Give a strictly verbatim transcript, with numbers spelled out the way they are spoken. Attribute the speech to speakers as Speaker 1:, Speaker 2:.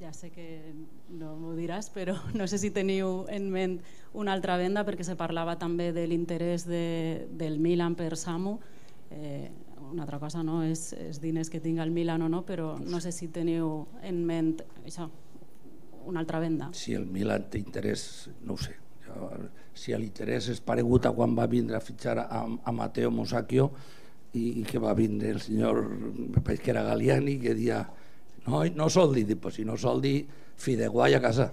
Speaker 1: ja sé que no m'ho diràs, però no sé si teniu en ment una altra venda, perquè se parlava també de l'interès de, del Milan per Samu. Eh, una altra cosa no és els diners que tinga el Milan o no, però no sé si teniu en ment això, una altra venda.
Speaker 2: Si el Milan té interès, no ho sé. Si l'interès és paregut a quan va vindre a fitxar a, a Matteo Musacchio i, i que va vindre el senyor, me pareix que era Galliani, que dia no, no soldi, pues si no soldi, Fideguai a casa.